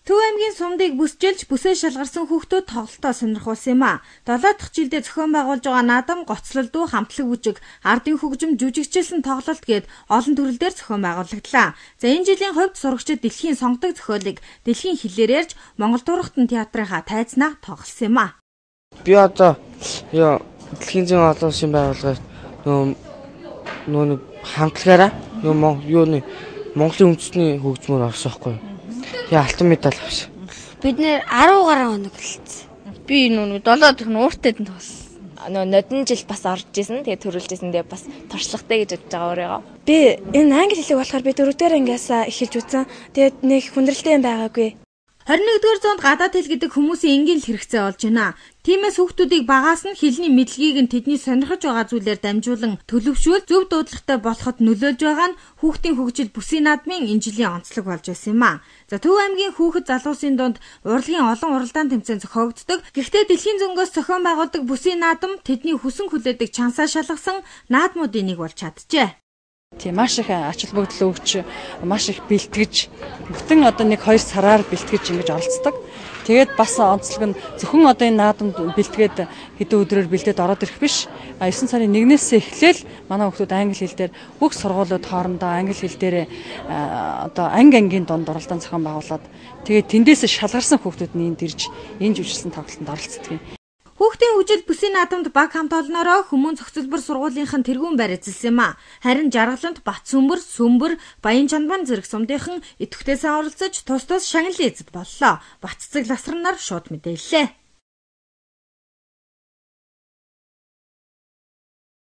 Төв аймгийн сумдыг бүсчилж бүсээ шалгарсан хүүхдүүд тоглолтоо сонирхуулсан юм а. 7 дахь жилдээ зохион байгуулж байгаа наадам гоцлолдуу хамтлаг бүжиг, ардын хөгжим, жүжигчилсэн тоглолт гээд олон төрлөөр зохион байгуулагдлаа. За энэ жилийн хувьд сурагчид дэлхийн сонгодог зохиолыг дэлхийн хэлээр ярьж Монгол Дурхтан театрынхаа тайзнаа тоглосон юм а. Би одоо дэлхийн зэн олон улсын байгууллагаас нөө хамтлагаараа Монголын үндэсний хөгжмөөр орсоохгүй. Алтан медаль авсан. Бид нэр 10 гаруй хоног болцсон. Би 7 дахь нь ууртайд нь тоглосон. Нодон жил бас орж исэн. Тэгээ төрүүлж исэн. Тэгээ бас туршлагатай гэж бодож байгаа өөрийгөө. Би энэ англи хэлийг болохоор би 4-р ангиас эхэлж үзсэн. Тэгээд нэг хүндрэлтэй юм байгаагүй. 21-р зуунд гадаад хэл гэдэг хүмүүсийн энгийн л хэрэгцээ болж байна. Тиймээс хүүхдүүдийг багаас нь хэлний мэдлэгийг нь тэдний сонирхож байгаа зүйлээр дамжуулан төлөвшүүл зөв дуудлагатай болоход нөлөөлж байгаа нь хүүхдийн хөгжил бүсийн наадмын энэ жилийн онцлог болж байсан юм а. За Төв аймгийн хүүхэд залуусын дунд урлагийн олон уралдаан тэмцээн зохиогддог. Гэхдээ дэлхийн зөнгөөс зохион байгуулдаг бүсийн наадам тэдний хүсэн хүлээдэг чансаа шалгасан наадмуудын нэг болж чаджээ. Тийм маш их ач холбогдол өгч маш их бэлтгэж бүтэн одоо 1-2 сараар бэлтгэж ингэж оролцдог. Тэгээд бас онцлог нь зөвхөн одоо энэ наадамд бэлтгээд хэдэн өдрөөр бэлдээд ороод ирэх биш. 9 сарын 1-ээс эхлээл манай хүүхдүүд англи хэл дээр бүх сургуулиуд хоорондоо англи хэл дээр одоо ангийн дунд уралдаан зохион байгуулад тэгээд тэндээс шалгарсан хүүхдүүд нь энд ирж энэ жүжиглсэн тоглолтод оролцдог юм. Хүүхдийн хөгжил бүсийн наадамд баг хамт олноороо Хүмүүн зохицолбор сургуулийнхан тэргүүн байр эзэлсэн юм а. Харин Жаргалант Батсүмбэр, Баян Чанбан зэрэг сумдынхан идэвхтэйсэн оролцож тус шагналын эзэд боллоо. Баццэг Ласран нар шууд мэдээллээ.